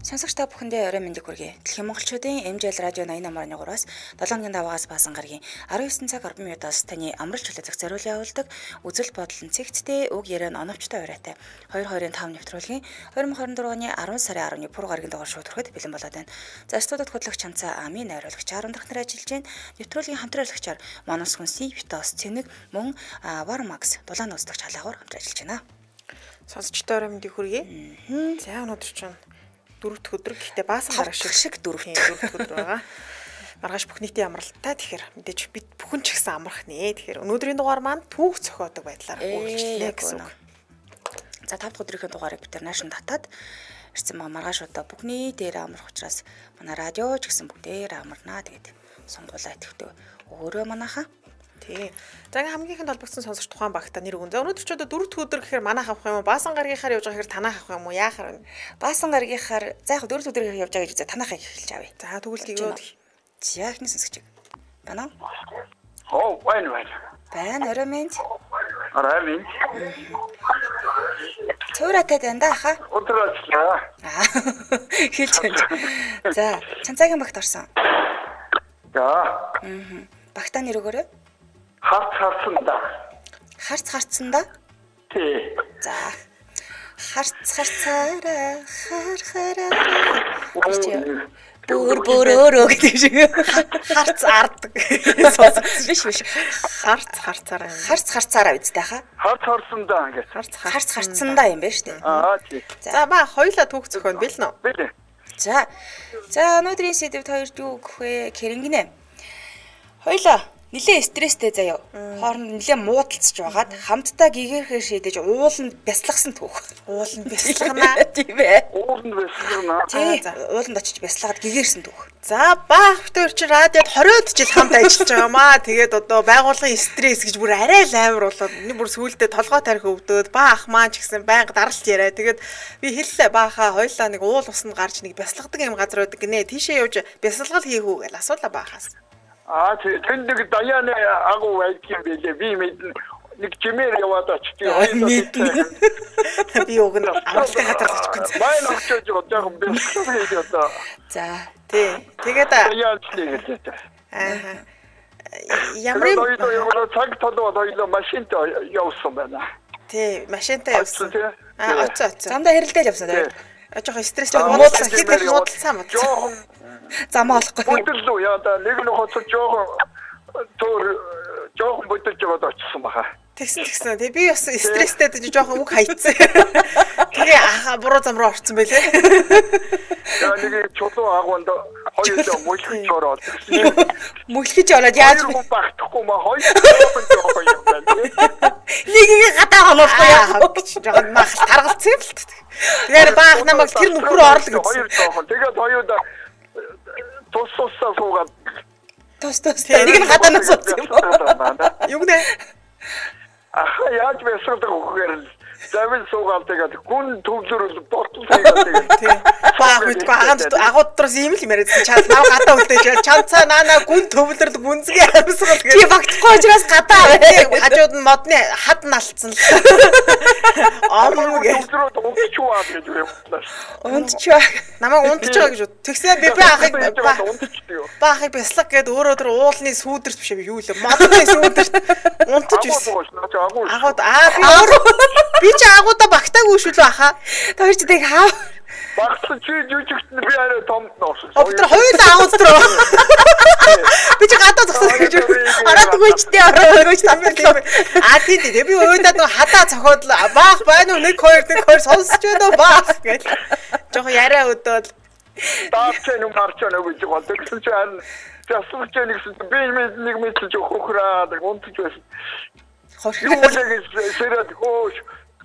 Сонсогч та бүхэндээ орой мэндийг хүргэе. Дэлхийн монголчуудын MJL радио 88.3-аас 7 даваагаас баасан гарагийн 19 цаг 10 минутаас таны амралт чөлөөцөх зориулан явуулдаг үзэл бодол нь цэгцтэй үг яриан оновчтой оройтой 225 нэвтрүүлгийн 2024 оны 10 сарын 10-ны пүр гарагийн дугаар шууд хүрэхэд бэлэн болоод байна. За студид хөтлөгч Чанцаа Ами найруулагч 10 дахь нар ажиллаж байна. Нэвтрүүлгийн хамтраалагчаар Манус Хүнси Витос Цэник мөн Warmax дулаан устдагч халаагуур хамт ажиллаж байна. Сонсогчтой орой мэндийг хүргэе. За өнөөдөр чинь 4 дахь өдөр гэхдээ баасан гараг шиг 4 дахь өдөр байгаа. Маргааш бүх нийтийн амралттай. Тэгэхээр мэдээж бид бүхэн ч гэсэн амрах нэ. Тэгэхээр өнөөдрийн дугаар маань түүх зохиодог байдлаар үргэлжлэнэ гэсэн үг. За 5 дахь өдрийн дугаарыг бид наашин татаад ирсэн байгаа. Маргааш одоо бүхний дээр амрах учраас манай радио ч гэсэн бүгдээр амарнаа. Тэгээд сонгуулаа итгэвтэй өөрөө манайхаа. Тий. За ингээ хамгийн ихэнд холбогдсон сонсогч тухайн багта нэр өгөн. За өнөөдөр ч одоо 4 дахь өдөр гэхээр манайх авах юм уу? Баасан гаргийнхаар явж байгаа гэхээр танайх авах юм уу? Яахаар вэ? Баасан гаргийнхаар за яг 4 дахь өдөр явж байгаа гэж танайхыг эхэлж авъя. За тэгвэл тийгөөд. За ихний сонсогч. Байна Оо, уу? байна. Байна, орой минь. Орой минь. Цууратай байна да хаа. Өдрөөчлээ. Хэлж байна. За, Чанцаагийн багт орсон. За. Багтаа нэр өгөөрэй. Харцсан да. Харцсан да? Тий. За. Харцаараа харахаараа. Бүр гэдэг шиг. Харц ард. Биш. Харцаараа. Харцаараа үстэй хаа. Харцсан да ингэ. Харцсан да юм байна шүү дээ. Тий. За ба хоёлаа түүх зохион бэлнэ үү? Бэлээ. За өнөөдрийн сэдвд хоёрд юу гэх вэ? Хэрэнгэнэ. Хоёлаа нилээ стресстэй заяа. Хооронд нилээ муудалцж байгаад хамтдаа гэгэрхээ шийдэж ууланд бясалгасан түүх. Ууланд бясалгана. Тийм ээ. Ууланд бясалгана. Тий. Ууланд очиж бясалгаад гэгэрсэн түүх. За баах бүтээр чи радиод 20-од жил хамт ажиллаж байгаа маа. Тэгээд одоо байгууллагын стресс гэж бүр арай л амар болоод энэ бүр сүулдэ толгой тарих өвдөөд баах маань ч гэсэн байнга даралт яриа. Тэгээд би хэллээ баахаа хоёлаа нэг уул усанд гарч нэг бясалгадаг юм газар байдаг гинэ. Тийшээ явж бясалгал хийх үү гэж асуулаа баахаас. Тэнд нэг даяаны агуу байдгийн байлээ. Би мэднэ. Нэг жимээр яваад очив. Би уг нь авралтай газар очихгүй. Байн очиж жоохон бэлтгэл хийж одоо. За. Тий. Тэгээд ямар юм цаг толгой хоёлоо машинтай явсан байна. Тий, машинтай явсан. Оцоо. Замдаа хэрэлдэл явсан тий. Жоохон стресстэй муудалцсан. Хэд муудалцсан мод. Жоохон зам олохгүй. Бүдэллүү яа да нэг нь хоцоо жоохон бүдэлж яваад очсон баха. Тэгсэн. Тэгээ би бас стресстэй дэж жоохон үг хайцсан. Тэгээ буруу зам руу орсон байлээ. Яа нэг чулуу агуунд хоёулаа мөлхөж ороод. Мөлхөж ороод яаж багтахгүй маа жоохон юм байна. Нэгийг гадаа хоноохгүй яа. Жоохон мах таргалцсан юм л. Тэгэхээр баах намайг тэр нүхрөө орлоо гэсэн. Хоёр жоохон. Тэгээд хоёулаа тусаа суугаад. Тус. Нэг нь гадаанаас суусан юм. Юу нэ? Яаж бясалгадаг үгээр л завин суугаад тэгээд гүн төвлөрөл болтол тэгээд тий. Баах мэдгүй агууд дотроос ийм л юм яриадсан. Чад нав гадаа үлдээж чанцаа наана гүн төвлөрөл гүнзгий амьсгал гэж. Тий багтахгүй учраас гадаа аваа. Хажууд нь модны хад налцсан л. Амруу төвлөрөд унтчваа гэж явууллаа. Унтчваа. Намайг унтчихаа гэж. Тэгсэн би баахыг бяслаг гээд өөрөө тэр уулны сүүдэрт биш юу л модны сүүдэрт унтж байсан. Агууд би ч агуудаа багтаагүй шүү л баха. Тэр ч тэг хаа. Багтсан чи жүжигт би арай томд нуусан. Тэр хоёулаа агууд руу. Би ч гадаа зогсоод гэж ороод өгөөч тамбар. Тийм. Би өөдөө нэг хадаа цохоод баах байна уу 1 2 сонсож байна уу баах гэж. Жохо яриа өдөөд таарч юм марч байна гэж болдог. Тэгсэн чи харин засварч нэгсэн би нэг мэдлж хөхраад унтж байсан. Юу гэж сэрээд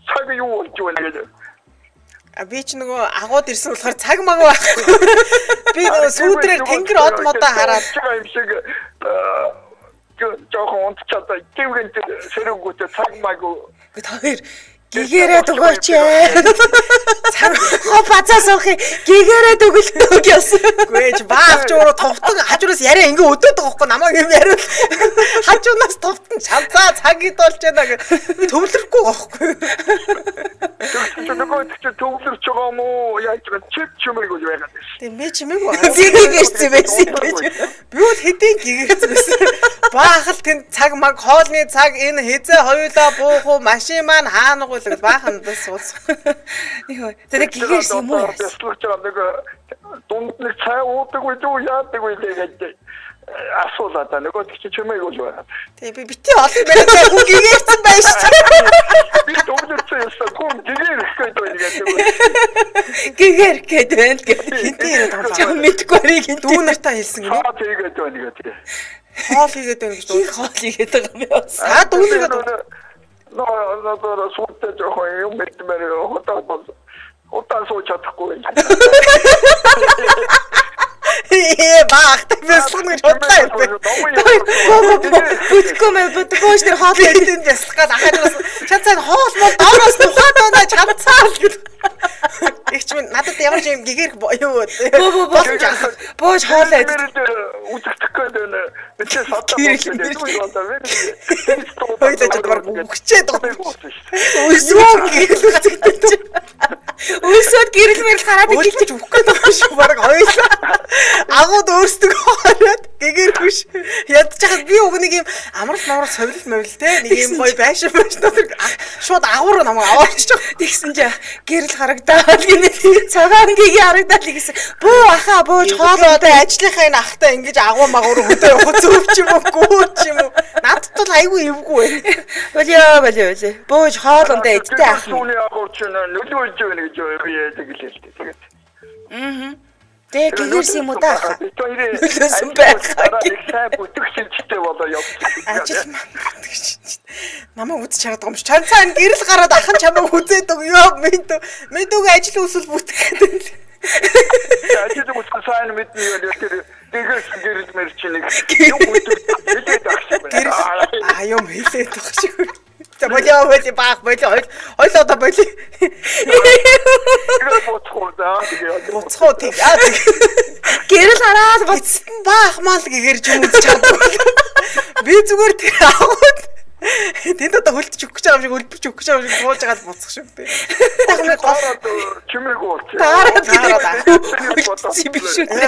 цаг юу болж байна гэдэг. Би ч нөгөө агууд ирсэн болохоор цаг маг байхгүй. Би нөгөө сүүдрээр тэнгэр од модоо хараад юм шиг жоохон унтчихад гівгэнт сэрэгүүтэй цаг маг. Хоёр Гигээрээ өгөөч ээ. Хоо бацаас уух гигээрээ өгөлтөө гэсэн. Үгүй ээ баах ч өөрөө товтон хажуураас яриа ингээ өдөөд байгаа хгүй намайг юм яриа. Хажуунаас товтон шалзаа цагид болж байна гэх төвлөрөхгүй байхгүй. Нөгөө ч төвлөрч байгаа юм уу? Яаж чиг чимээг үл байгаад байна. Тийм би чимээг байна. Би гигэрсэн байсан гэж. Би бол хэдийн гигэрсэн байсан. Баахал тэнд цаг маг хоолны цаг энэ хизээ хоёулаа буух уу машин маань хаана гул гэж баахандаа суусах. Йоо. Тэгээд гигэрсэн юм уу? Тэслэж байгаа нэг дунд нэг цай уудаг үү яадаг үү гэж асуулаа та нөгөө ч чимээг үл байна. Тийм би бити олон мэрэг хүн гигэрсэн байж шүү. Би төвлөрсөн юмсан хүн гигэрэх гээд байна гэдэг. Гигэр гээд байна гэдэг. Хинтээ яриад байгаа. Чам мэдгүй ариг хинтээ. Дүү нартаа хэлсэн гэнэ. Хаа тэгээд байна гэдэг. Хоол хийгээд байна гэж дүү. Хоол хийгээд байгаа юм яа. Аа дүүнийгээ ноо суутай жоохон юм бэлтмээр хотаа сууж чадахгүй. Баах тэсгэн гэж бодлоо юм. Бүтгэхгүй мэ бүтгэхгүй ш тэр хоол хийдэн яслах гад ахаажаас чанцаа хоол мол доороос тухайд байна чамцаа л гэж. Игч минь надад ямар ч юм гигэрх юу бууж хоол айд. Үзэгдэх гээд байна. Би ч сатаа өгчээд Үсвэн гэрлүүлчихсэн. Үсвэн гэрэлмэр хараад гэлж өгөх гээд байгаа шүү баг хоёулаа. Агууд өөрсдөө хараад гэгэрхгүй ш. Ядчихад би уг нэг юм амрал совлол мовл те нэг юм гоё байшин шууд агуур намайг аваарч байгаа. Тэгсэн чи гэрэл харагдаад гинэ цагаан гигээ харагдаад гэсэн. Бүү ахаа бууж хоолоо ажлынхаа энэ ахтай ингэж агуу магуур хөдөө явах зөв ч юм уу гүү ч юм уу. Надад бол айгүй эвгүй байна. Болио. Бууж хоолондоо эдтэй ах. Сүүний агуурч нөлөөлж байна гэж би тэгэлээ. Тэгээд. Тэгээд гэрс юм уу та? Нөлөөсөн байхаа. Сайн бүтгэжтэй болоо явчих. Намаа үз чараад байгаа юм чи. Чанцаа энэ гэрэл гараад ахын чамайг үзээд өгөө. Мэдүүг ажил үсэл бүтгэх гэдэг. Ажил үсэл сайн мэднэ гэдэг. Тэгээс гэрэл мэрчнийг юм бүтгэж гэрэл юм хэлээд байгаа шиг. За болио баах хойлоо одоо болио. Буцхоо тийм. Гэрэл хараад буцсан баах мал гэгэрж юм үзэж чаддаг. Би зүгээр тэр аваад тэнд одоо хөлтөж өгөх гэж байгаа юм шиг өлбөж өгөх гэж байгаа юм шиг бууж агаад буцах шүү дээ. Тахны гараад чимээг ууч.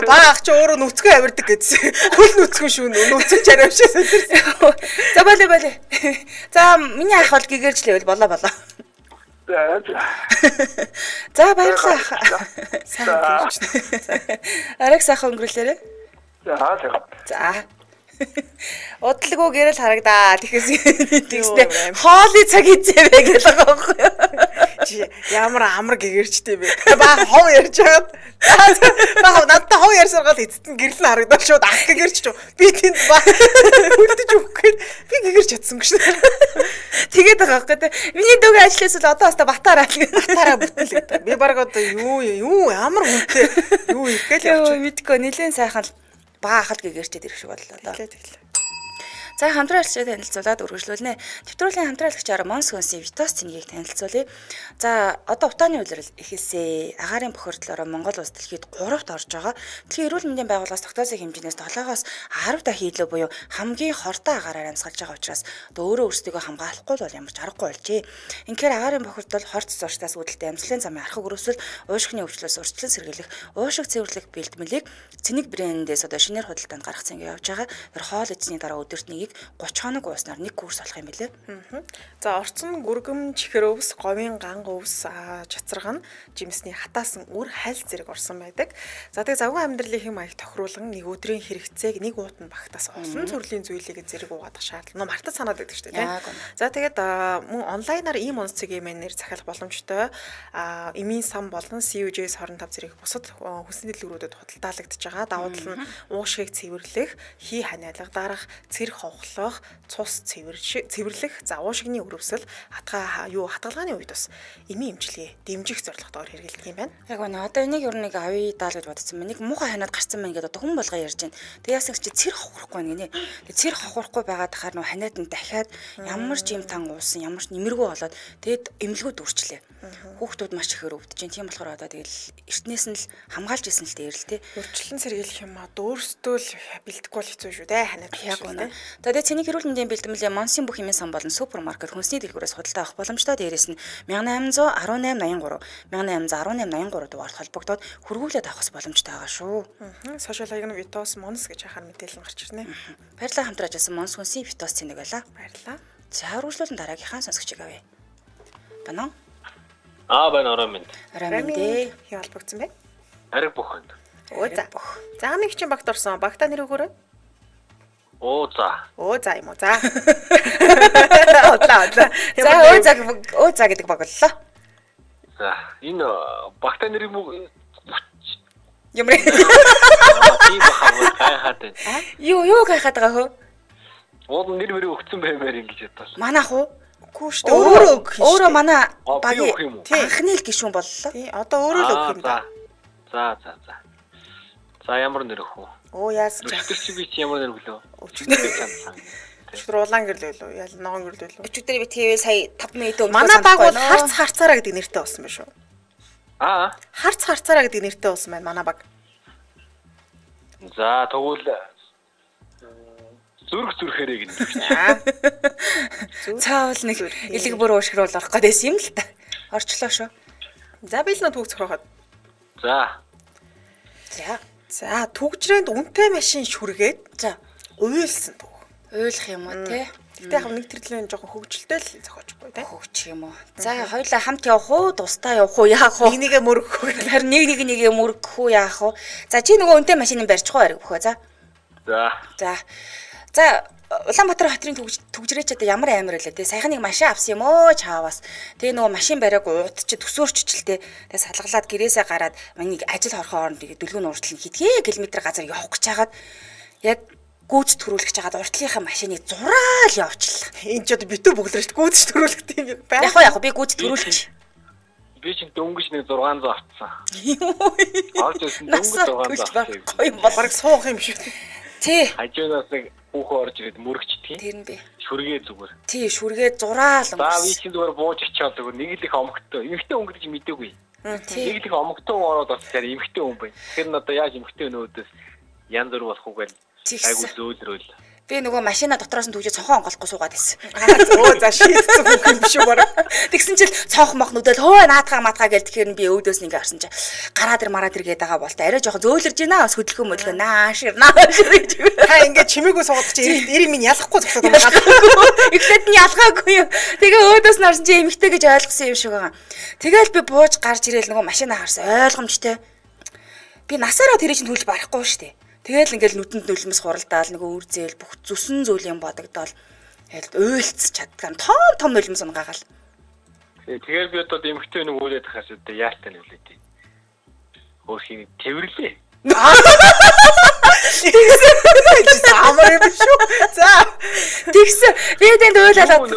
Баах ч өөрөө нүцгэн авирдаг гэсэн. Хөл нүцгэн шүү нүцгэн чарав шиг сэтэрсэн. За болио. За миний ах бол гэгэржлээ болоо. За баярлалаа. Ариг сайхан өнгөрүүлээрэй. За. Удлгүй гэрэл харагдаа. Тэгснэ хоолны цаг хийцээвэ гэж байгаа байхгүй юу? Чи ямар амар гэгэрчтэй бэ? Баа хов ярьж байгаад баа надтай хов ярьсаргаад эцэст нь гэрэл нь харагдаад шууд ах гэгэрч чив. Би тэнд баа үлдэж өгөх гээд би гэгэрч чадсан гэж. Тэгээд байгаа байхгүй юу? Миний дүүг ажиллаас л одоо хастаа батараа бүтэл гэдэг. Би баг одоо юу ямар хүнтэй юу ирэхгээл явчих. Мэдгүй нэлээд сайхан баахад гэгэрчээд ирэх шиг боллоо. Тэглээ. За хамтран ажиллаж танилцуулаад үргэлжлүүлнэ. Төвтрүүлийн хамтраалагчаар Монс Хөнсийн Витос цэнгийг танилцуулъя. За одоо утааны улирал эхэлсэ. Агаарын бохирдлороо Монгол улс дэлхийд 3-т орж байгаа. Дэлхийн эрүүл мэндийн байгууллагаас тогтоосон хэмжээс 7-оос 10 дахин илүү буюу хамгийн хортой агаараар амьсгалж байгаа учраас өөрөө өөрсдөө хамгаалахгүй бол ямар ч аргагүй болжээ. Инхээр агаарын бохирдол хорц зурштаас үүдэлтэй амьсгалын замын архаг өрөвсөл, уушгины өвчлөөс урьдчилан сэргийлэх, уушиг цэвэрлэх бэлтгэлийг цэник брэндээс одоо шинээр худалдаанд гаргах цэнгээ явж байгаа. Тэр хоол эзний дараа өдөрт 30 хоног ууснаар 1 курс болох юм билээ. За орцон гүргэм чихэр өвс, говийн ганг өвс, чацарган, жимсний хатаасан үр хайлт зэрэг орсон байдаг. За тэгээ завгүй амьдралын хэм маяг тохируулан нэг өдрийн хэрэгцээг нэг уутанд багтаас олон төрлийн зүйлийг зэрэг угаадах шаардлага мартаж санаад байдаг шүү дээ. За тэгээд мөн онлайнаар ийм онцгийн мэнээр захиалах боломжтой эмийн сан болон CUJ-с 25 зэрэг бусад хүнсний дэлгүүрүүдэд худалдаалагдж байгаа. Давуу тал нь уушгийг цэвэрлэх, хий ханиалга дарах, цэрэг ухлах, цус цэвэрлэх, уушигны өрөвсөл, хатгалгааны үед бас эмийн эмчилгээ дэмжих зорилготойгоор хэрэгэлдэг юм байна. Яг үнэ одоо энийг ер нь нэг авъя даал гэж бодсон байна. Нэг муухай ханаад гарсан байна гэдээ одоо хүн болгоо ярьж байна. Тэгээ яасан чи цэр хохорохгүй байна гинэ. Тэгээ цэр хохорохгүй байгаад тахаар нөө ханаад нь дахиад ямар ч юм тан уусан, ямар ч нэмэргүй болоод тэгээд эмнэлгүүд үрчлээ. Хүүхдүүд маш ихээр өвдөж байна. Тийм болохоор одоо тэгэл эртнээс нь л хамгаалж исэн л дээр л тий. Урьдчилан сэргийлэх юм аа өөрсдөө л бэлдэхгүй бол хэцүү шүү дээ. Ханаад яг үнэ. Тэгээд цэний эрүүл мэндийн бэлтгэмжийн Монсын бүх хэмээн сан болон супермаркет хүнсний дэлгүүрээс худалдаа авах боломжтой. Дээрээс нь 181883 181883 дугаард холбогдоод хөргүүлээд авах боломжтой байгаа шүү. Сошиал хаягны Витос Монс гэж хахаар мэдээлэл гарч ирнэ. Баярлалаа хамтран ажилласан Монс хүнсний Витос цэнийг байлаа. Баярлалаа. За үргэлжлүүлэн дараагийнхаа сонсогчийг авъя. Банаа. Байна орой минь. Раминдээ. Хий холбогдсон бэ? Ариг буханд. За. За нэг чинь багт орсон. Багта нэр өгөөрэй. За юм уу. За. За гэдэг баг боллоо. За энэ багтаа нэр юм уу? Юмрэ. Тийм бахаа гайхаад байна. Юу гайхаад байгаа хөө? Нэр мөрөө өгцөн баймаар ингэж ядсан. Манайх уу? Үгүй шүү дээ. Өөрөө манай багийн анхны анхны л гишүүн боллоо. Тий, одоо өөрөө л өгөх юм да. За. За ямар нэр өгөх вэ? Яасан ч. Өчтөр чи би чи ямар нэр өглөө? Өчтөр улаан гэрэл байлоо. Ял ногоон гэрэл байлоо. Өчигдөр би ТV сая 5 минут өмнө манай баг бол харцаараа гэдэг нэртэй болсон байх шүү. Харцаараа гэдэг нэртэй болсон байна манай баг. За тэгвэл зүрхээрээ гэнэ. Цаавал нэг элэг бүр уушгируул орох гэдээс юм л та. Орчлоо шүү. За биелнэ түүх зохиоход. За түгжрээнд үнэтэй машин шүргээд за уйлсан түүх. Уйлах юм уу те? Гэтэ яг нэг төрлөө жоохон хөвгөлтэй л зохиочгүй те. Хөвч юм уу. За хоёулаа хамт явах уу, тусдаа явах уу, яах вэ? Нэгээ мөргөх үү? Харин нэгээ мөргөх үү, яах вэ? За чи нөгөө үнэтэй машиныг барьчих уу ариг бөхөө. За Улаанбаатар хотын түгжрээч одоо ямар амар байлаа те. Саяхан нэг машин авсан юм өө чааваас. Тэгээ нөгөө машин бариаг удаж төсөөрччлээ те. Тэгээ салгалаад гэрээсээ гараад манийг ажил хорхоо оронд дөлгөөний уртл нь хэдхэн километр газар явах гэж хагаад яг гүйц төрүүлэх гэж хагаад уртлынхаа машиныг зураал явуулчихлаа. Энд ч одоо битүү бүглэрч гүйц төрүүлэх тийм юм байна. Яг би гүйц төрүүлчих. Би чинь дөнгөж нэг 600 авцсан. Орж ирсэн дөнгөж 600 авсан. Гоё юм баг суух юм шүү. Тий. Хажуунаас нэг хүүхөө орж ирээд мөрөгчдөг. Тэр нь би. Шүргээ зүгээр. Тий, шүргээ зураал. За би чинь зүгээр бууж очиод зүгээр нэг л их омогтой. Эмхтэй өнгө гэж мэдээгүй. Нэг л их омогтой ороод бас тэр эмхтэй хүн байна. Тэр нь одоо яаж эмхтэй өнөөдөөс янз бүр болох уу гэж айгу зөөлрөөл. Би нөгөө машина дотроос нь түгжээ цонхон онголохгүй суугаад байсан. За шийдсэн бүх юм шүү бараг. Тэгсэн чинь цонх мох нүдэл хөө наатгаа матгаа гэл тэгэхээр би өвдөөс нэг харсан чи гараад гээд байгаа болт арай жоохон зөөлрж байна. Хөдөлгөө мөдлгөө наашир гэж. Та ингээд чимээгүй суугаад чи эрийн минь ялахгүй зогсоод байгаа. Эхлээд нь ялгаагүй юм. Тэгээ өөдөөс нь харсан чи эмхтэй гэж ойлгосон юм шиг байгаа. Тэгэл би бууж гарч ирээл нөгөө машина харсан ойлгомжтой. Би насаараа тэрийг чинь төлж барахгүй шүү дээ. Тэгэл ингээл нүдэнд нулимс хуралдаал нөгөө үр зээл бүх зүсэн зүйлийн бодогдоол тэгэл уйлц чаддгаа том нулимс унгаагаал. Тэгэхээр би одоо эмхтэй нэг үүлээд хахаас одоо яалтай нүлээд. Хөөхийг тэрвэрлээ. Амар юм шүү. За тэгсэн би тэнд уйлаад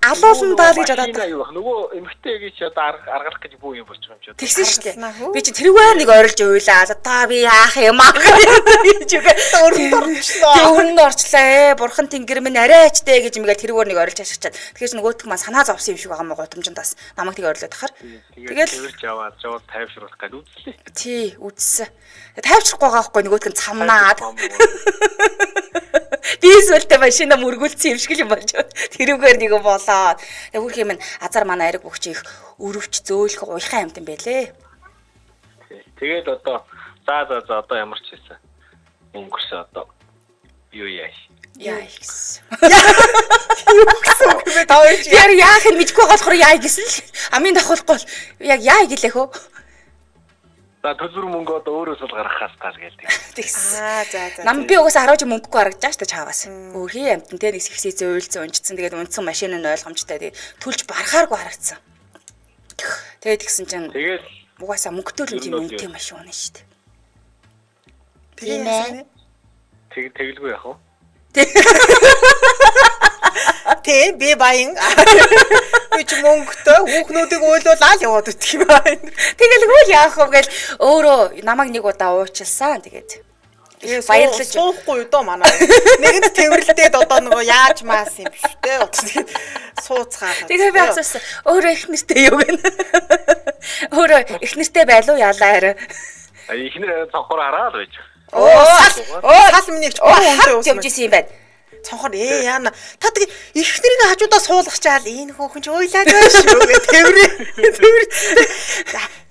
алуулна даа гэж бодоод. Нөгөө эмхтэй гэж одоо аргалах гэж бүү юм болчих юм чи. Тэгсэн шүү дээ. Би чи тэрүүгээр нэг орилж уйлаад одоо би яах юм аа гэж өрөнд орчлаа. Бурхан тэнгэр минь арайчтэй гэж мгээл тэрүүгээр нэг орилж ашигчаад. Тэгэхээр нөгөөтг маань санаа зовсон юм шиг байгаа мó гутамжиндаас намайг тийг орилоод тахаар. Тэгэл тэрж яваад жоо тайвшруулах гэж үзлээ. Тий, үзсэн. Тайвшрахгүй байгаа байхгүй нөгөөтг нь цамнаад. Би эсвэл машина мөргүүлсэн юм шиг юм болж байна. Тэрүүгээр нэг болоод. Яг хөрх юм азар манай ариг бөхч их өрөвч зөөлөх уйхан амт юм байлээ. Тэгээд одоо за одоо ямар ч хэлсэн. Өнгөрсөн одоо юу яаш. Яа гэсэн. Юу гэсэн үг бэ таа чи? Яар яах нь мэдгүй болохоор яа гэсэн л. Амын давхуулахгүй яг яа гэлээ хөө. За төлбөр мөнгө одоо өөрөөсөө гаргахаас гал гэлдэг. За. Нам би угаасаа 10 жи мөнгөгүй харагдаж штэ чааваас. Өөрхий амтан те нэг сэгсээзээ уйлцсан унжицсан. Тэгээд унтсан машин нь ойлгомжтой. Тэгээд төлж барахааргүй харагдсан. Тэгээд тэгсэн чинь тэгээд угаасаа мөнгөтэй л тийм үнэтэй машин унаа штэ. Тэгээд тэгэлгүй яах вэ? Тийм би баян. Би ч мөнгөтэй хүүхнүүдийг уйлуулаад яваад идэх юм байна. Тэгэл үгүй яах вэ гэл өөрөө намайг нэг удаа уучлсан тэгээд баярлаж суухгүй доо манай. Нэгэнд тэрвэрлдээд одоо нөгөө яаж маас юм биш үү? Тэгээд сууцгаа. Тэгээд би асуусан. Өөрөө их нэртэй юу гэнэ? Өөрөө их нэртэй байлуу яалаа. Ихнэр цонхоор хараад байж. Сал минийч хүнтэй явж исэн юм байна. Цонхоор яана. Та тэгээ ихнэрийн хажуудаа суулгачаал энэ хүүхэн ч уйлаад байна шүү гэ тэрвэр.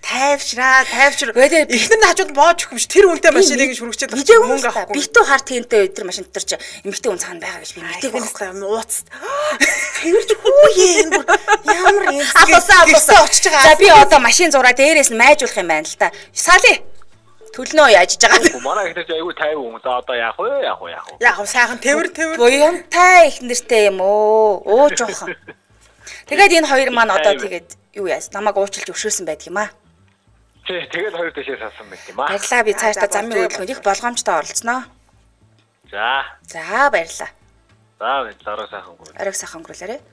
Тайвшраа. Ихнэрийн хажууд боож өгөх юм ш. Тэр үнтэй машиныг шүргчээд мөнгө авахгүй. Битүү хар тэнтэй өдөр машин дотор ч эмэгтэй хүн цаана байгаа гэж би мэдээгүй байхгүй ууц. Тэрч хүүе энэ бүр ямар юм. Авсан очиж байгаа. За би одоо машин зураа дээрээс нь майжуулах юм байна л да. Сали төлнөө яаж байгаа. Манай ихнэр ч айгүй 50 хүн. За одоо яах вэ? Яг сайхан тэрвэр. Буянтай их нэртэй юм уу? Ууж жоохон. Тэгээд энэ хоёр маань одоо тэгээд юу яа? Намайг уучлж өгшөөсөн байдаг юм аа. Тэгээд хоёр дэшээ салсан байт юм аа. Баярлаа би цаашдаа замын хөдөлгөөнд их болгоомжтой оролцсноо. За баярлаа. Арай сайхан өнгөрүүлээрэй.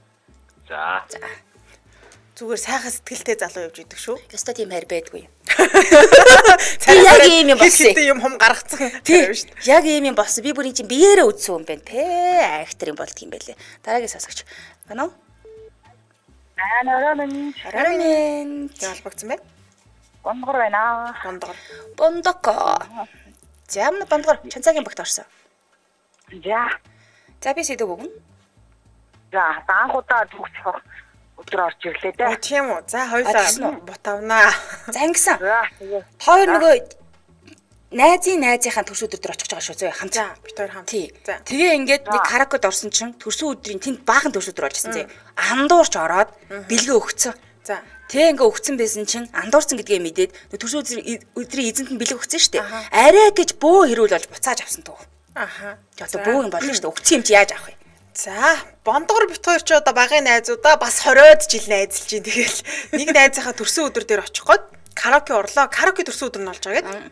За. Зүгээр сайхан сэтгэлтэй залуу явж идэг шүү. Яста тийм хайр байдгүй. Яг ийм юм болсон. Юм хум гаргацсан тийм шүү. Яг ийм юм болсон. Би бүрийн чинь биеэрээ үдсэн юм байна те. Актер юм болдго юм байлээ. Дараагийн сонсогч. Байна уу? Арамын. Ялбагцсан байна. Бондгор байна. Бондоко. Зам бондгор чанцаагийн багт орсон. За би сэдв өгнө. За анхудаа зүгцэх өдөр орж ирлээ дээ. Тийм үү. За хоёулаа бутавнаа. За ингэсэн. Хоёр нөгөө найзынхаа төрсөн өдөр очих гэж байгаа шүү зөө хамт. За бид хоёр хамт. Тэгээ ингээд нэг каракод орсон чинь төрсөн өдрийн тэнд баахан төрсөн өдөр болж ирсэн зөө. Андуурч ороод бэлгээ өгцөн. За тэгээ ингээ өгцөн байсан чинь андуурсан гэдгээ мэдээд төрсөн өдрийн эзэнт нь бэлэг өгсөн шүү дээ. Арай гэж бөө хэрүүл болж буцааж авсан туу. Одоо бөө юм болно шүү дээ. Өгцөн юм чи яаж авах вэ? За, бондгор бит хоёр ч одоо багын найзуудаа бас 20-од жил найзалж ин тэгэл нэг найзынхаа төрсөн өдөр дээр очих гээд караоке орлоо. Караоке төрсөн өдөр нь болж байгаа гэд.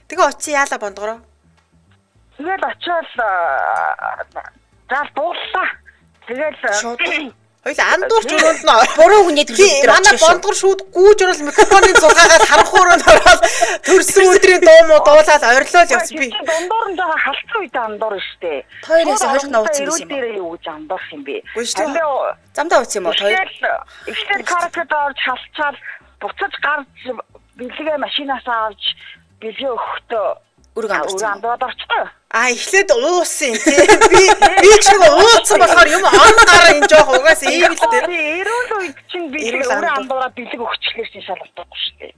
Тэгээ очив яалаа бондгороо. Тэгэл очиод заал дууллаа. Тэгэл хоёул андуурч өрөөнд нь буруу хүний төрсөн өдөр манай бондгор шүүд гүүж орол микрофоны зулгаагаар харанхууранд ороод төрсөн өдрийн дуу муу дуулаад орилол явсан би. Дондор нь жоо халцсан үед андуур штэ. Хоёроос хоёр нууцсан байсан юм. Дээр юу гэж андуур юм бэ? Замдаа ууц юм уу хоёр? Ихтэй каракад орж халцаад буцаж гарч бэлгээ машинаас авч бэлгээ өгөхдөө үрг андуур орчихсон. Эхлээд уусан тий. Би ч нэг ууцсан болохоор юм он гараа энэ жоох угаас ийм л дээ. Эрүүл үед чинь би өөрөө андуураа бэлэг өгчлээр чинь шалгахгүй шүү дээ.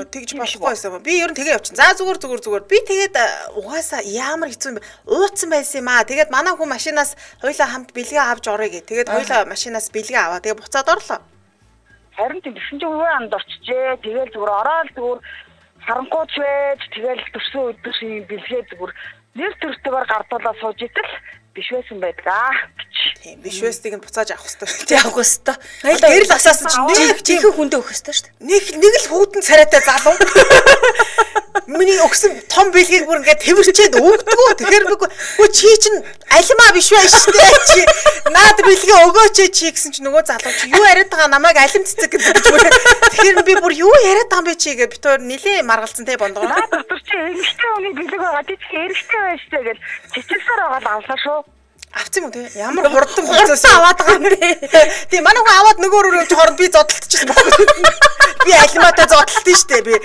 Тэгж болохгүй байсан. Би ер нь тэгээ явчихсан. За зүгээр. Би тэгээд угаасаа ямар хэцүү юм бэ? Ууцсан байсан юм аа. Тэгээд манай хүн машинаас хоёулаа хамт бэлгээ авч орё гэ. Тэгээд хоёулаа машинаас бэлгээ аваа. Тэгээд буцаад орлоо. Харин тийм чинь өөрөө андуурчжээ. Тэгээд зүгээр ороод зүгээр харанхууч байж тэгээд төрсөн өдрийн бэлгээ зүгээр нэр төртөөр гардуулаад сууж итэл биш байсан байдгаа. Тийм биш байсныг нь буцааж авах хэрэгтэй. Тий авах хэрэгтэй. Одоо гэрэл асаасан чинь жинхэнэ хүндээ өгөх хэрэгтэй шүү дээ. Нэг л хүүтэн царайтай залуу. Миний өгсөн том бэлгийг бүр ингээд тэрчээд өгдөгөө. Тэгэхээр үгүй чи чинь алимаа биш байх шүү дээ. Чи наад бэлгээ өгөөч чи гэсэн чинь нөгөө залуу чи юу яриад байгаа намайг алим цэцэг гэдэг ч бүр. Тэгэхээр би бүр юу яриад байгаа юм бэ чи гэж бит өөр нилээ маргалцсан те бондгоо. Наад дотор чи эмэгтэй хүний бэлэг байгаа тий эрэгтэй байж тээ гэж чичилсээр байгаа авлаа шүү. Авцсан юм те ямар хурдан процесс аваад байгаа юм бэ? Тийм манай хүн аваад нөгөө рүү явж хооронд би зодтолчихсон байхгүй. Би алиматаа зодтолтсон шүү дээ.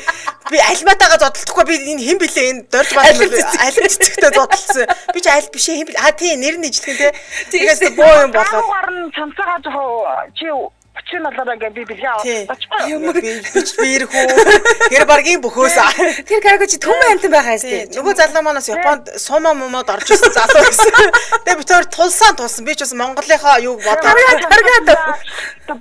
Би алиматаага зодтолдохгүй би энэ хэн блэ энэ дорж баасан алим цэцэгтэй зодтолсон. Би ч аль биш хэн блэ тий нэр нь ижлэх юм те. Тэгээс боо юм болоод. Гарн цамцаага жоо чи Чин алаараа гэ би бэлээ авчихсан. Ямар би ирэх үү? Тэр баргийн бөхөөс. Тэр караоке чи түмэн амтан байгаа юм. Нөгөө залуу манаас Японд суума момод орж ирсэн залуу байсан. Тэгээ би тэр тулсан. Би ч бас Монголынхаа юуг бодоод.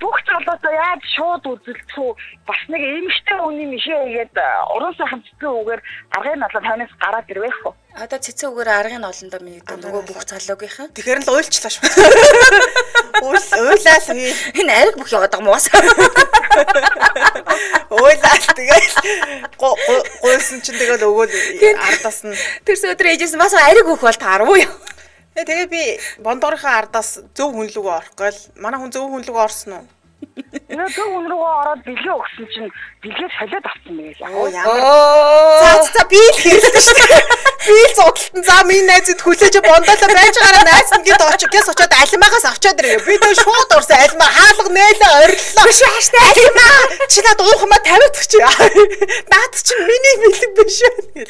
Бүх залуусаа яаж шууд үзэлцүү бас нэг эмэгтэй хүний мишээ игээд уран сайхан цэцэн үгээр аргын налаа танаас гараад ирвэх үү? Одоо цэцэн үгээр аргын олондоо мэдээ нөгөө бүх залуугийнхан. Тэгэхээр л уйлчлаа шүү. Уйлал би. Энэ ариг бүх яваад байгаа муус. Уйлал тэгэл гойсон чинь тэгэл өгөөл ардаас нь тэрс өдөр ээжээс бас ариг өөх бол тааруу юу? Тэгээ би бондорынхаа ардаас зөв хүн лүгөө орохгүй л манай хүн зөв хүн лүгөө орсон уу? Энэ зөв хүн рүүгээ ороод бэлгээ өгсөн чинь бэлгээ солиод авсан мэй. За би л хэлсэн шүү дээ. Би л зодтолтон за минь найзад хүлээж бондоолоо байж байгаараа найз нь гээд очиж очоод алимаагаас авчаад ирээ. Би тэр шууд урсан алимаа хаалга нээлээ ориллоо. Биш хааштай алимаа. Чи над уухмаа тавиадах чи. Наад чи миний бэлэг биш ээ.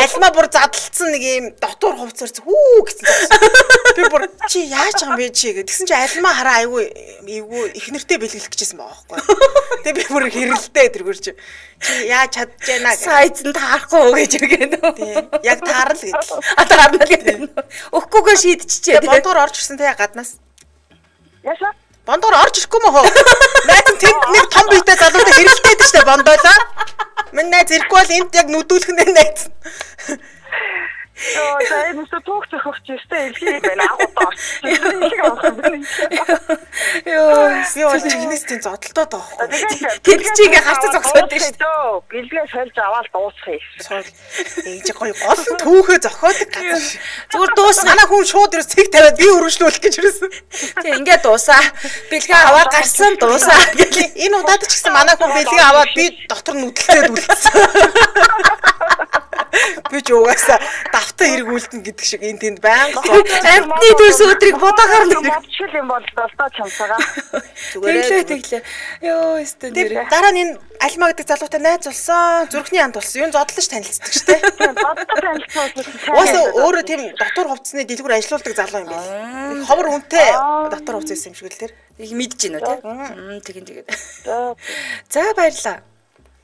Алимаа бүр задлцсан нэг юм дотор хувцар хүү гэсэн. Би бүр чи яаж байгаа юм бэ чи гэсэн чи алимаа хараа айгүй их нэртэй бэлгэлэх гэжсэн байгаа байхгүй. Тэгээ би бүр хэрэлдээ тэргүүр чи яаж чадж байна гэж. Сайзан таарахгүй гэж өгөөд. Яг таарл гэдэг. Таарна л гэдэг. Өгөхгүйгээр шийдчихээ. Бондоор орж ирсэн те гаднаас. Яса? Бондоор орж ирэхгүй мө хөө. Найз нь тэнд нэг том биетэй залуутай хэрэлдээд штэ бондоолоо. Минь найз ирэхгүй бол энд яг нүдүүлэх нэ найз. За энэ өстө түүх зохиогч өстө элхий байна агуудаа. Йоо чинээс тийм зодтолтоод байгаа. Тэд чи ингээ харцаа зогсоод байна шүү дээ. Бэлгээ сольж аваад дуусгая. Ээж гоё гол нь түүхээ зохиодог газар. Зүгээр дуус. Манай хүн шууд ерөөс цэг тавиад би өргөжлүүлэх гэж ирсэн. Тэг ингээ дуусаа. Бэлгээ аваад гарсан дуусаа. Энэ удаад ч гэсэн манай хүн бэлгээ аваад би дотор нүдэлцээд үлдсэн. Би ч угаасаа давтаа хэрэгүүлдэн гэдэг шиг энэ тэнд байнга амтны төрс өдрийг бодохоор нэг мовчл юм бол тоо чамсаага. Тэглээ. Йоо өстө нэр. Дараа нь энэ Альма гэдэг залуутай найз болсон. Зүрхний анд болсон. Юу зодлож танилцдаг шүү дээ. Боддог танилцсан. Угаасаа өөрөө тийм дотор хувцсны дэлгүүр ажиллаулдаг залуу юм байна. Ховор үнэтэй дотор хувцс юм шиг л тэр. Их мэдж гинөө тий. Тэгээд. За баярлаа.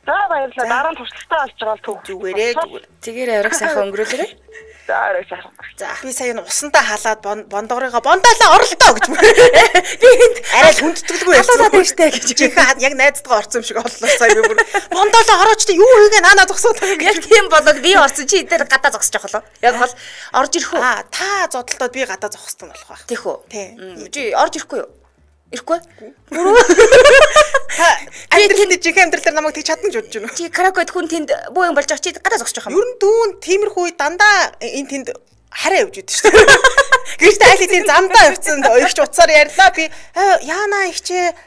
За баярлалаа. Дараа нь туршлагатай болж байгаа л төг зүгээрээ. Тэгэр авирах сайхан өнгөрүүлээрэй. За авирах сайхан. За би сая усандаа халаад бондоорыгоо бондоолоо оролтоо гэж. Би энд арай л хүндэтгэлгүй ялцаад байжтэй гэж. Жинхэнэ яг найздгаа орсон юм шиг оллоо сая би бүр бондоолоо орооч та юу хийгээ наанаа зогсоод байгаа. Яг тийм болоод би орсон чи эдгээр гадаа зогсож явах болоо. Яг бол орж ирэх үү? Та зодтолтод би гадаа зогссон болох байх. Тийх үү? Тий. Чи орж ирэхгүй юу? Ирэхгүй. Амьдралын жиг амьдралаар намайг тэг чадна гэж бодож байна. Чи каракод хүн тэнд буу юм болж байгаа чи гадаа зогсож байгаа юм. Ер нь дүүн тиймэрхүү дандаа энэ тэнд хараа явж идэв шүү дээ. Гэртээ айлын замдаа явцсан их ч утсаар ярьлаа би яана ихчээ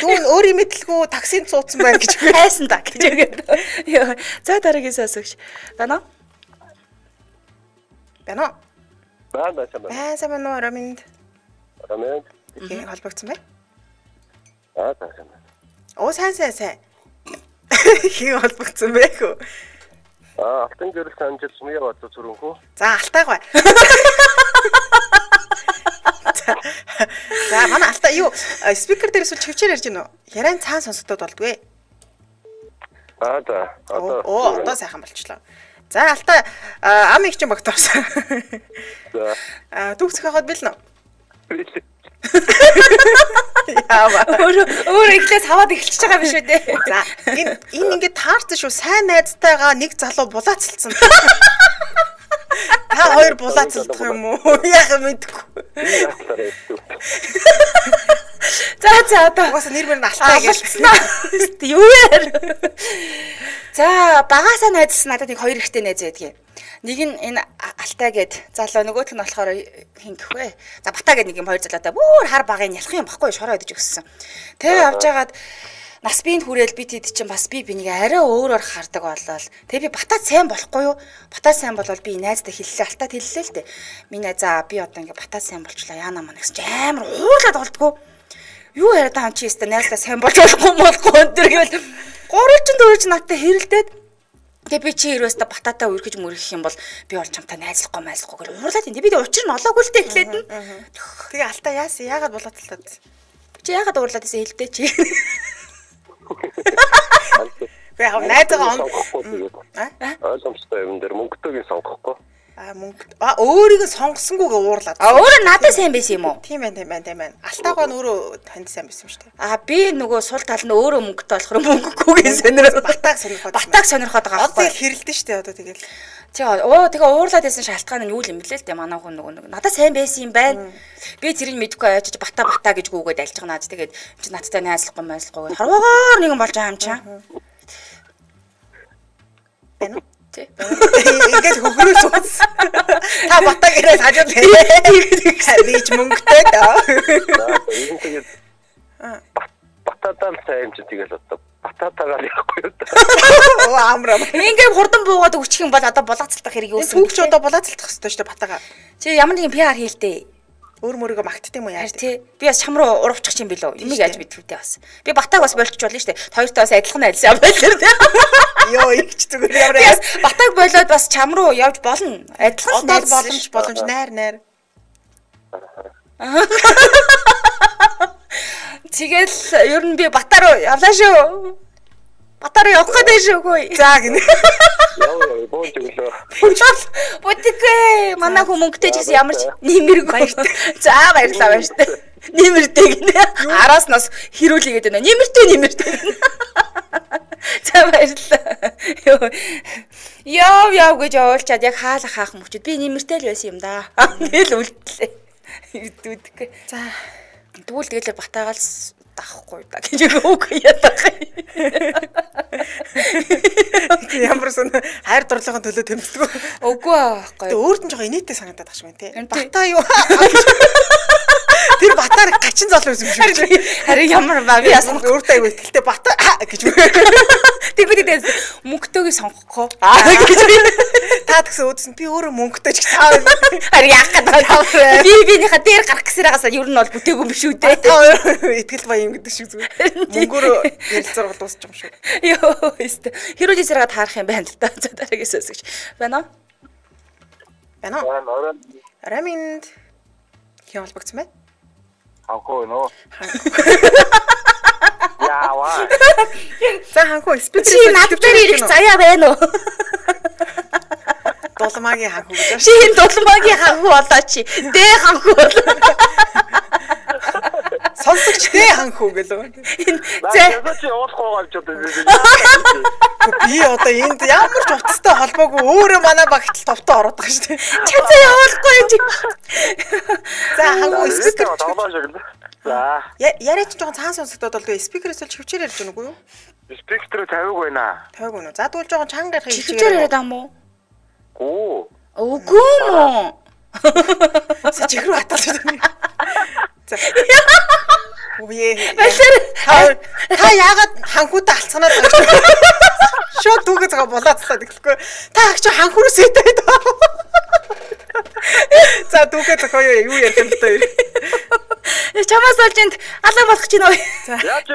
дүүн өөрийн мэдлгүй таксинд цууцсан байна гэж хайсан да гэж өгөөд. За дараагийн сонсогч. Байна уу? Байна уу Роминд. Роминд. Их холбогдсон бай. Сайн. Оо сайн. Хин холбогдсон бэ хөө. Алтан гэрэл санжил сумья бат зүрхэнхүү. За алтайгаа. За манай алтай юу спикер дээр эсвэл чивчээр ярьж гинөө. Яриан цаан сонсогдоод болдгүй. За. Одоо сайхан болчихлоо. За алтай ам их ч юм багтаарсан. За. Түүх зохиогоод билнэ. Яава. Өөр ихлээс хаваад эхэлчихэж байгаа биш үү дээ. За энэ ингээд таарсан шүү. Сайн найзтайгаа нэг залуу булаацалцсан. Та хоёр булаацалдах юм уу? Яг мэдгүй. За одоо угаасаа нэр мөр нь алтай гэж. Юу яа. За багасаа найзсан надад нэг хоёр ихтэй найз байдгийг. Нэг нь энэ алтай гэд залуу нөгөөх нь болохоор хин гэхвэ. За бата гэд нэг юм хоёр залуутай бүр хар багын ялах юм баггүй шороо идэж өгсөн. Тэг авч яагаад нас биенд хүрээл би тэд чинь бас би бинийг арай өөрөөр хардаг болол. Тэг би батаа сайн болохгүй юу? Батаа сайн болвол би найздаа хэллээ алтаад хэллээ л дээ. Минь за би одоо ингээ батаа сайн болчлаа яана маа гэсэн чи амар уурлаад болдгоо. Юу яриад байгаа юм чи өстө найздаа сайн болж болохгүй өндөр гэвэл 3-4 надтай хэрэлдээд тэгээ би чи ерөөсөө бататай үргэж мөрөх юм бол би бол чамтай найзлахгүй гэр уурлаад энэ би учир нь олоогүй л дээ эхлээд нь. Тэгээ алтаа яасан яагаад булаацлаад. Чи яагаад уурлаад байсан хэлдэ чи. Би яг найзгаа ойлгомжтой юм дээр мөнгөтэйг сонгохгүй. Мөнгө өөрийгөө сонгосонгүйгээ уурлаад. Өөрөө надад сайн байсан юм уу? Тийм байна. Алтайгаа нь өөрөө танд сайн байсан юм шүү дээ. Би нөгөө сул тал нь өөрөө мөнгөтэй болохоор мөнгөгүйгээ сонирхоод батаг сонирхоод байгаа байхгүй. Одоо хэрэлдэн шүү дээ одоо тэгэл. Тэгээ уурлаад байсан шалтгаан нь юу юм блэ л дээ манай хүн нөгөө надад сайн байсан юм байна. Би тэрийг мэдгүй очиж бата гэж гүгээд альж байгаа наад тэгээд чи надтай найзлахгүй харваагаар нэгэн болж байгаа юм чам. Тий. Ингээд хөгрөө сууц. Та батаг ирээд хажууд бич мөнгөтэй даа. Тэгээд бататаа сайн ч тэгэл одоо бататаагаар яахгүй юу. Оо амраа. Ингээд хурдан буугаад өччих юм бол одоо булаацалтах хэрэг юусэн. Түүх ч одоо булаацалтах хэрэгтэй шүү дээ батагаа. Чи ямар нэгэн PR хийлдэ. Өөр мөрөөгөө магтдаг юм уу яаж тий. Би бас чам руу урвчих чинь билүү. Имийг яаж мэдвүтэй бас. Би батаг бас болчих болно шүү дээ. Хоёртой бас адилхан айлсан байлаа тий. Йоо игч зүгээр ямар яа. Батаг болоод бас чам руу явж болно. Адилхан боломж найр. Тэгэл ер нь би батаа руу явлаа шүү. Батаа руу явах гэдэг шүү хөөе. За гинэ. Яа бооч өглөө. Бодигүй манай хүмүүнтэй ч гэсэн ямар ч нэмэргүй. За баярлалаа. Нэмэртэй гинэ. Араас нас хэрүүлээгээд байна. Нэмэртэй. За баярлалаа. Яв гэж явуулчаад яг хаах мөчөд би нэмэртэй л байсан юм да. Тэгэл үлдлээ. Идүүдгүй. За тэгвэл тэгэл батаагаал дахгүй да гэж үг яах юм. Ямар сон хайр дурлалын төлөө тэмцдэг. Үгүй байхгүй. Өөрт нь жоохон инээтэй санагдаад багш мэн тий. Батаа юу? Тэр батаар гачин зол байсан юм шиг. Харин ямар ба би яасан өөртөө аягүй ихтэй батаа гэж. Тэгвэл мөнгөтэйг сонгохгүй. Та тэгсэн үүдсэн би өөрөө мөнгөтэй ч таа. Харин яах гэдэг. Бинийхээ дээр гарах гэсээрээ ер нь бол бүтээгүй юм шүү дээ. Итгэл баян гэдэг шиг зүгээр. Мөнгөөр ярилцаар дуусчих юм шүү. Йоо өстө. Хэрүүл эсрэгээ таарах юм байна л да. За дараагаас өсгөж. Байна уу? Араминд хин холбогдсон бай. Ханхуу нөө. Яава. За ханхуу спикер чи над дээр ирэх заяа байна уу? Дулмаагийн ханхуу гэж. Чи энэ дулмаагийн ханхуу болоо чи. Дээ ханхуу болоо. Сонсогч дээ ханхуу гэлөө. За чи уулахгүй гарч одоо. Би одоо энд ямар ч утастай холбоогүй өөрөө манай багтал товтоо ороод байгаа шүү дээ. Чи явуулахгүй юм чи. За ханхуу спикер. За. Яриач жоохон цаан сонсогдоод болдгоо спикерээс л хөвчээр ярьж байна уу юу? Спикер тавиаг байна. Тавиаг байна уу? За тэгвэл жоохон чанга ярих юм чигээр яриад ам уу? Үгүй мó. Чихрүү хаталж байна. За. Үе. Та яагаад ханхуутай алцганаад байгаа юм? Шууд түүгээ згаа болоодсаа гэхгүй. Та агч ханхуурс идэв. За түүгээ зохио юу ярих юм бэ? Чамаас болж энд алга болох гэж байна уу? Яаж ч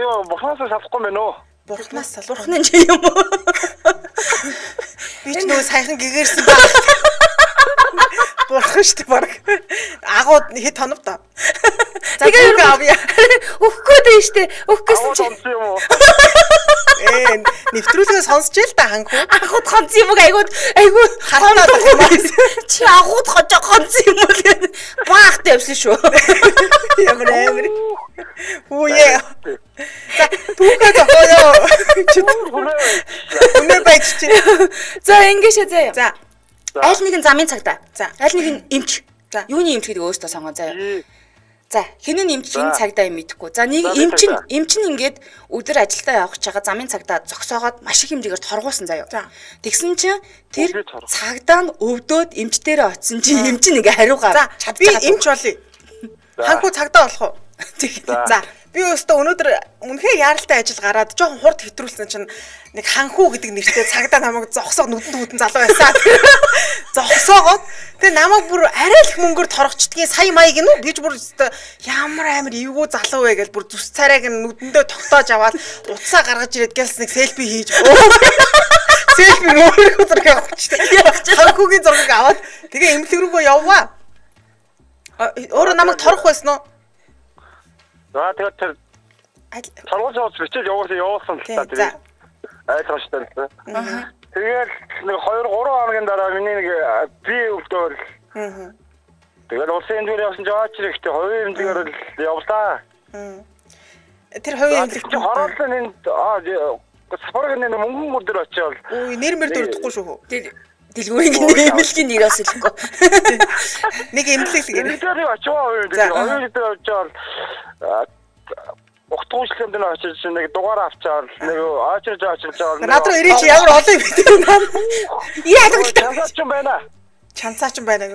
юу бурхнаас салахгүй мэн үү? Бурхнаас салуурхны юм уу? Би ч нөө сайхан гэгэрсэн баг. Бурхан шүү дээ баг. Агууд хэд тонов та. За тэгээ авъя. Өгөхгүй дээ шүү дээ. Өгөхгүйсэн чи. Нэвтрүүлгээ сонсч л та ханхуу. Агууд хонц юм уу? Айгуу хатнаад байгаа юм. Чи агууд хонц юм уу гэдэг. Баахтай явсан шүү. Ямар амар. Үе. За түүгээ зохиоё. Үнэ байж чи. За ингээшээ заяа. За. Аль нэгэн замын цагтаа. За. Аль нэгэн эмч. За. Юуны эмч гэдэг өөртөө сонгоо заяа. За, хинэн эмч энэ цагтаа юм мэдэхгүй. За, нэг эмч нь ингээд өдөр ажилдаа явах гэж байгаа замын цагтаа зогсоогоод маш их хэмжээгээр торгуулсан заяа. Тэгсэн чинь тэр цагдаа нь өвдөөд эмчтэрээ очсон чинь эмч нь ингээ хариугаа. За, би эмч болъё. Ханхуу цагдаа болох уу? За, би өөртөө өнөөдөр үнэхээр яаралтай ажил гараад жоохон хурд хэтрүүлсэн чинь нэг ханхуу гэдэг нэртэй цагдаа намайг зогсоог нүдэн залуу байсан. Зогсоогоод тэгээ намайг бүр арай л их мөнгөөр торгочдгийн сая маяг нь би ч бүр ямар амар эвгүй залуу вэ гэж бүр зүс царайг нүдэндээ тогтоож аваад утсаа гаргаж ирээд гэлс нэг селфи хийж. Селфи өөрөө зураг авчихсан. Ханхуугийн зургийг аваад тэгээ эмнэлэг рүүгөө явваа. Өөрөө намайг торох байсан уу? За тэгээд тэр торгуулж авч бичээд явуулсан л та тэр ойлгомжтой л. Тэгээд нэг 2-3 хоногийн дараа миний нэг би өвдөөр. Тэгээд улсын эмнэлгээр явсан жаач ихтэй хувийн эмнэлгээр л явлаа. Тэр хувийн эмнэлэг чи хороолсон энд сафаргийн мөнгөн мөрдөр очиод. Үй нэр мэр дөрөхгүй шүү. Дэлгүүрийн эмнэлгийн нэрээс хэлэхгүй. Нэг эмнэлэг гэнэ. Тэр очоо хувийн дээр очиод Утгуулсан дээр очиж нэг дугаар авчаал нэг очирж жаал. Над руу ирээч ямар олон юм бэ? Яагаад ч юм байна. Чанцаач юм байна.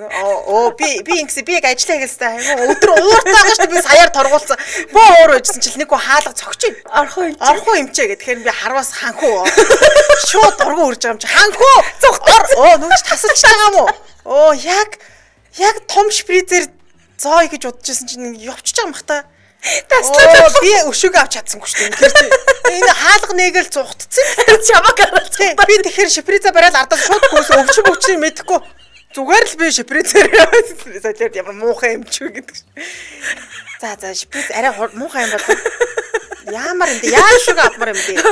Би ингэсэн би яг ажиллаа хийгээстэй. Өдөр ууртаагаа шүү би саяар торгуулсан. Боо уур байжсэн чил нэг гоо хаалга цогч. Орхоо имчээ гэх. Тэгэхээр би харвас ханхуу. Шууд дургу үрж байгаа юм чи. Ханхуу. Нүгч тасалж байгаа юм уу? Яг том шприцээр зоо гэж бодчихсон чинь явчихж байгаа юм бах та. Таслаад би өшөөгөө авч чадсангүй шүү дээ. Тэгэхээр энэ хаалга нээгэл зугтцсан. Чамаг гараад. Би тэгэхээр шприцээ барайл ардаа шууд гүйс өвчмөчний мэдэхгүй. Зүгээр л би шприцээр солиод ямар муухай юм ч үү гэдэг. За шприц арай муухай юм бол ямар юм бэ? Яа шиг авмаар юм бэ?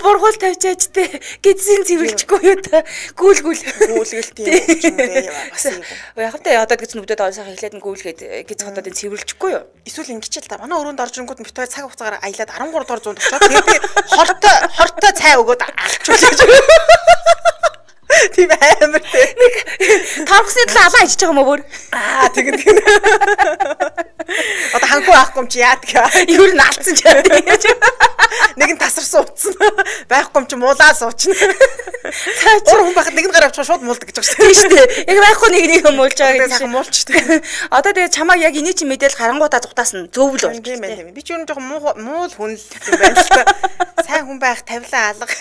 Бургуул тавьчаач те. Гидсэн цэвэрлчихгүй юу та. Гүйлгэлт юм бэ? Бас юм. Яг та одоо гэж нүдэд олсоо хэлээд гүйлгээд гиз хотод цэвэрлчихгүй юу? Эсвэл ингэчил та. Манай өрөөнд орж ирэнгүүт битээ цаг хугацаагаар аялаад 13 дор 100 очоод тэгээд би хортой цай өгөөд алчуулж. Тийм амар тий. Нэг тархсны талаа алаа хийж байгаа юм уу бүр? Тэгэн. Одоо ханхуу авахгүй юм чи яадаг. Ер нь алдсан ч яадаг. Нэг нь тасарсан утсан. Байхгүй юм чи муулаа суучна. Өөр хүн байхад нэг нь гараа авчихаа шууд муулдаг гэж байгаа шүү дээ. Яг байхгүй нэг муулж байгаа гэж муулчдаг. Одоо тэгээ чамаг яг эний чи мэдээлэл харангуудаа зугтаасан зөвл болж байна. Би ч юу нэг муул хүн л юм байна л та. Сайн хүн байх тавилаа алга.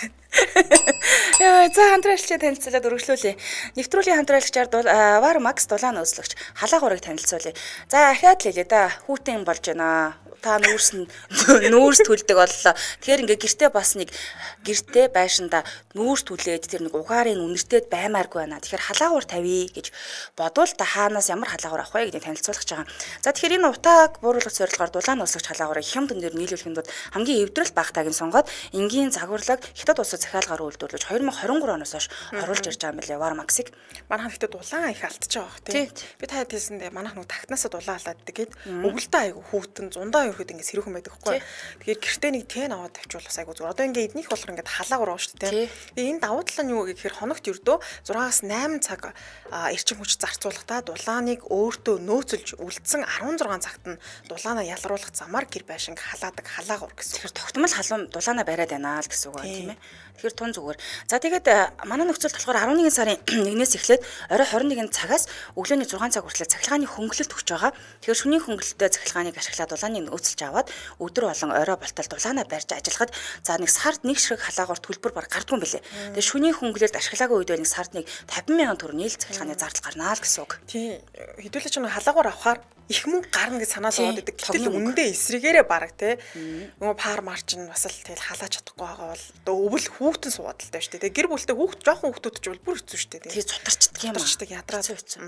Яа, за хамтраалагчаа танилцуулаад өргөжлүүлье. Нэвтрүүлгийн хамтраалагчаар Вар Макс дулаан нөөцлөгч халаагуурыг танилцуулъя. За ахаад л хэлээ да. Хүүтэн болж байна. Та нүүрс төлдөг боллоо. Тэгэхээр ингээ гэртээ байшинда нүүрс түлээд тэр нэг угаарыг үнэртээд баймааргүй байна. Тэгэхээр халаагуур тавья гэж бодвол та хаанаас ямар халаагуур авах вэ гэдгийг танилцуулах гэж байгаа. За тэгэхээр энэ утааг бууруулах зорилгоор дулаан нөөцлөгч халаагуурыг хямд өндөр нийлүүлэхэд хамгийн эвдрэл багтааг нь сонгоод энгийн загварлаг хятад улсад захиалгаар үйлдвэрлэж 2023 оноос хойш оруулж ирж байгаа юм билээ. Вар Максыг манайхан ихтэй дулаан их алдчихж байгаа бох тий. Би таад хэлсэндээ манайхан тагтнаасаа дулаан алдаад гээд өвөлдөө айгу хүүтэн зундаа ихэд ингэ сэрүүхэн байдаг хгүй. Тэгэхээр гэртээ нэг тэн аваад тавьчвал бас айгу зүгээр. Одоо ингэ эднийх болохоор ингэ халаагуур уу шүү дээ. Тэгээ энэ давуу тал нь юу гэхээр хоногт ердөө 6-аас 8 цаг эрчим хүч зарцуулахдаа дулааныг өөртөө нөөцөлж үлдсэн 16 цагт нь дулаанаа ялруулах замаар гэр байшинг халаадаг халаагуур гэсэн. Тэгэхээр тогтмол халуун дулаанаа бариад байна л гэсэн үг байна тийм ээ. Тэгэхээр тун зүгээр. За тэгээд манай нөхцөлд болохоор 11 сарын 1-ээс эхлээд орой 21 цагаас өглөөний 6 цаг хүртэл цахилгааны хөнгөлөлт өгч байгаа. Тэгэхээр шөнийн хөнгөлөлтөд цахилгааныг ашиглаад дулааныг нөөцөлж аваад өдөр болон орой болтол дулаанаа барьж ажиллахад за нэг сард нэг ширхэг халаагуур төлбөр баг гардгүй юм билээ. Тэгээд шөнийн хөнгөлөлт ашиглаагүй үед нэг сард нэг 50,000 төгрөгийн цахилгааны зардал гарнаа л гэсэн үг. Тийм. Хэдүүлээ ч нэг халаагуур авахаар их мөнгө гарна гэж санаад байгаа гэдэг. Гэтэл үнэндээ эсрэгээрээ бараг те. Нөгөө пар марч нь бас л тэгэл халаач чадахгүй байгаа бол өвөл хүүтэн суугаад л таа шүү дээ. Гэр бүлтэй жоохон хүүхдүүд ч бол бүр хэцүү шүү дээ. Тэгээ цутарчдаг юм аа. Цутарчдаг ядраа хэцүү.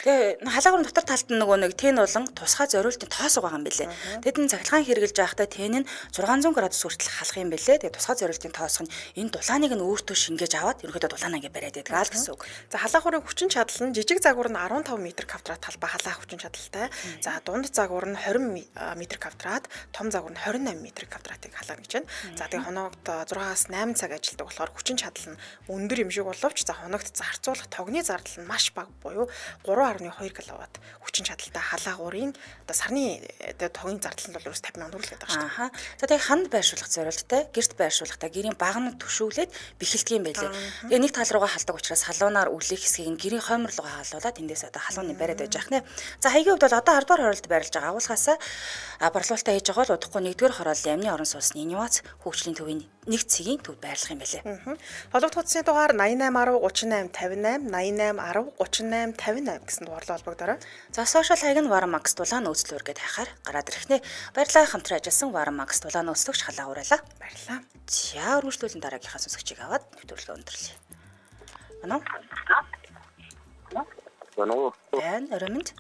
Тэгээ халаагуурын дотор талд нь нөгөө нэг тэн болон тусгай зориултын тоос байгаа юм билээ. Тэгэд энэ цахилгаан хэрглэж байхдаа тэн нь 600 градус хүртэл халах юм билээ. Тэгээ тусгай зориултын тоос нь энэ дулааныг нь өөртөө шингээж аваад ерөнхийдөө дулаанаа ингээ бариад байдаг л гэсэн үг. За халаагуурын хүчин чадал нь жижиг загвар нь 15 м2 талбай халаах хүчин чадалтай. За дунд загвар нь 20 м2, том загвар нь 28 м2-ыг халаана гэж байна. За тэгээ хоногт 6-аас 8 цаг ажилладаг болохоор хүчин чадал нь өндөр юм шиг боловч за хоногт зарцуулах тогны зардал нь маш бага буюу 3.2 кВт хүчин чадалтай халаагуурын одоо сарны тогны зардал нь бол ерөөс 50,000 төгрөг л гэдэг шүү дээ. За тэгээ ханд байршуулах зорилттой, гэрт байршуулахдаа гэрийн багнад төшөөлээд бэхэлдэг юм байлээ. Тэгээ нэг тал руугаа халдаг учраас халуунаар үлэх хэсгийг нь гэрийн хоймор руугаа халуулаад эндээс одоо халууны бариад байж яах нэ. За хаягийн хувьд бол одоо 10 дугаар хороолт байрлаж байгаа агуулгаас борлуулалтаа хийж байгаа бол удахгүй 1-р хорооллын амны орон сууцны инновац хөгжлийн төвийн нэг цэгийн төвд байрлах юм байлээ. Холбогд утасны дугаар 8810 3858 8810 3858 гэсэн дугаарлаа холбогдорой. За сошиал хаяг нь Вар Макс дулаан нөөцлөөр гэдээ хайхаар гараад ирэх нэ. Баярлалаа хамтран ажилласан Вар Макс дулаан нөөцлөгч халаагууралаа. Баярлалаа. За өргөжлөлийн дараагийнхаа сонсогчийг аваад нэвтрүүлгээ өндөрлөе. Манай Бануу. Оромд.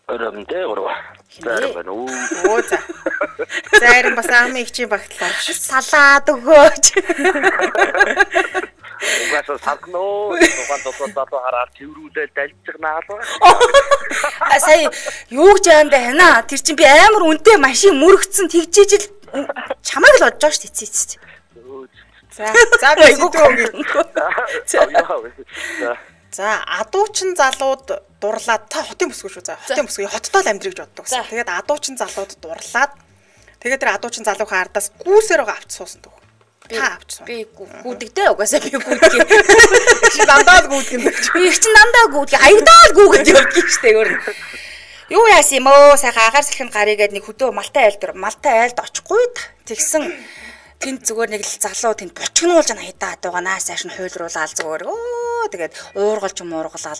Оромдээ гурав. Бануу. За. Зарим бас амын ихчийн багтлаа. Салаад өгөөч. Угаасаа сагноо. Угаасаа хараад тэрүүдээл далжигнаалаа. Сая юу гэж яанда хана? Тэр чинь би амар үнэтэй машин мөрөгцсөн тэгжижил чамайг л бодож байгаа шүү дээ. За би зүгөө. За адуучин залууд дурлаад та хотын бүсгүй шүү. За хотын бүсгүй хоттой л амьдрыг боддог гэсэн. Тэгээд адуучин залууд дурлаад Тэгээд тэр адуучин залуухан ардаас гүүсээр авч суусан төгөө. Та авч суу. Би гүдэгдээ угаасаа би гүдгий. Чи дандаа гүдгэн. Би их чинь дандаа гүдгий. Аягдаал гүгэд явдаг штэ өөр. Юу яасан юм оо сайхан агаар салхинд гарыг гээд нэг хөдөө малтай айлд очихгүй тэгсэн тэнд зүгээр нэг л залуу тэнд бочгнуулж хайтаад байгаа наас цааш нь хуйлруулаад зүгээр тэгээд уургалж муургалаад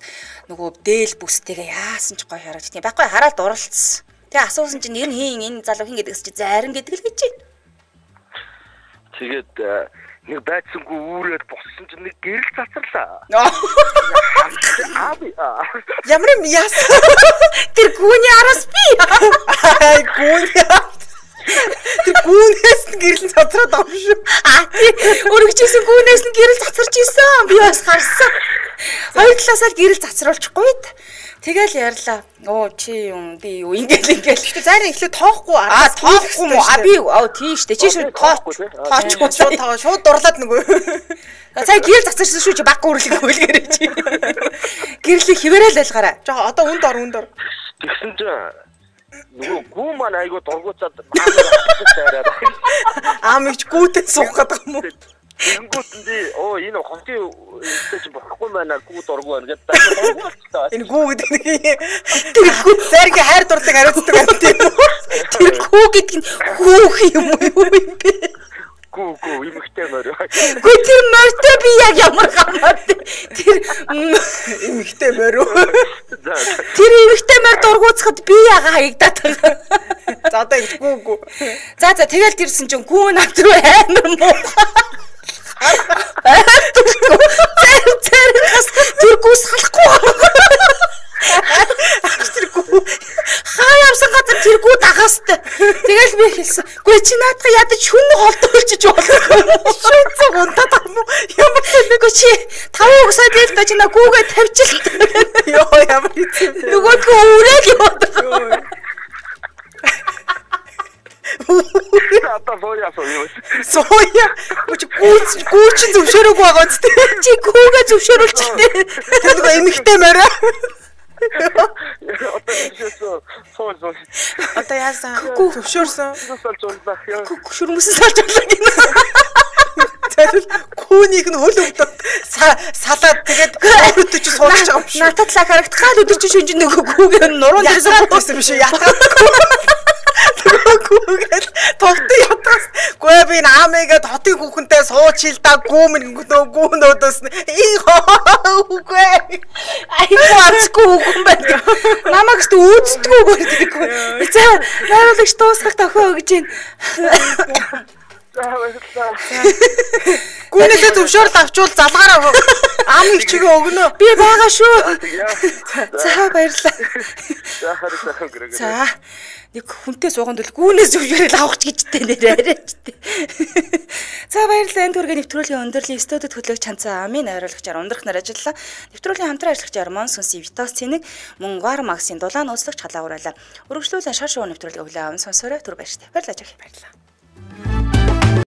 нөгөө дээл бүстэйгээ яасан ч гоё харагд тийм байхгүй хараад дурлцсан. Тэгээ асуусан чинь нэр нь хийн энэ залуу хин гэдэгс чи зарим гэдэг л гэж байна. Тэгээд нэг байцсангүй үүрээд боссон чинь нэг гэрэл цацарлаа. Ямар юм яас. Тэр гүний араас би. Гүний. Тэр гүнээс нь гэрэл цацраад байгаа шүү. Өргөжсэн гүнээс нь гэрэл цацарч исэн. Би бас харсан. Хоёр талаасаа л гэрэл цацруулчихгүй. Тэгэл ярьлаа. Оо чи юм би юу ингээл. Гэтэ зарим ихлэ тоохгүй тоохгүй мó. Би тийштэй. Чи шууд тоохгүй. Шууд дурлаад нөгөө. Сая гэрэл цацарсан шүү чи баг гүрлэг хөлгэрэй чи. Гэрлийг хിവэрэл байлгаарай. Жоо одоо үнд ор. Тэгсэн чинь нөгөө гүү маань айгуу дургуцаад маамаар аамч гүүтэй суух гэдэг юм уу? Тэнгүүтэнди энэ хотын чи болохгүй байна гүү дургу байна гэдэг. Энэ гүү гэдэг нэг тэр гүү зэрэг хайр дурдаг хариуцдаг юм тийм үү? Тэр гүү гэдэг нь хүүх юм уу юм бэ? Гүү имэгтэй мөр. Гүү тэр мөртөө би яг ямар хамаад тэр имэгтэй мөр. Тэр имэгтэй мөр дургуцахад би яга хаягдаад байгаа. За одоо гүү. За тэгэл тэрсэн чинь гүү навтруу амар муу. Зэрэгс тэр гүүс халахгүй. Тэр гүү хаяамсан газар тэр гүү дагастай. Тэгэл би хэлсэн. Гүй чи наадах ядаж хүн холдуулчих болов. Шүнцэг унтаад юм уу? Ямар нэг чи 5 өсөд л та чи на гүүгээ тавьчихлаа. Йоо ямар хэцүү. Нөгөөдгөө үрээд яваад. Одоо сууя. Сууя. Гүүч зөвшөөрөөгүй байгаа үст. Чи гүүгээ зөвшөөрүүлчихтэй. Тэр нэг эмэгтэй морой. Одоо яасан? Зөвшөөрсөн. Шүрмөсөн салж болоо гинэ. Тэгвэл гүүнийх нь хөл өвдөд салаад тэгээд өөртөө чи сууж байгаа юм шүү. Натад лаа харагдахад өдөр чи шүнж нөгөө гүүгээ нуруунд ирсэн байсан биш үү? Гүүгээл тогтсон ятгаас гүй би наамыгээд хотын хүүхэнтэй суучил да гүүнөөдөөс үгүй айгүй ацгүй хүүхэн байна. Намайг ч үздэггүй гэдэг. За найруулагч дуусгах тохио гэж байна. Гүнээсээ зөвшөөрөл авчвал залгаараа ам их чигээ өгнө. Би байгаа шүү. За баярлалаа. За нэг хүнтэй сууганд бол гүнээс зөвшөөрөл авах гэж дээ арайчтэй. За баярлалаа. Энэ төргийн нэвтрүүлгийн өндөрлөлийн студид хөтлөгч Ханцаа Амийн найруулагчаар ундрах нар ажиллалаа. Нэвтрүүлгийн хамтран ажиллагч Армон Сүнс Витас Цэник мөн Вар Максийн дулаан ууслах халаа ураалаа. Өргөжлүүлэн шар шоу нэвтрүүлгийн өвлөө аван сонсороо түр баяртай. Баярлалаа.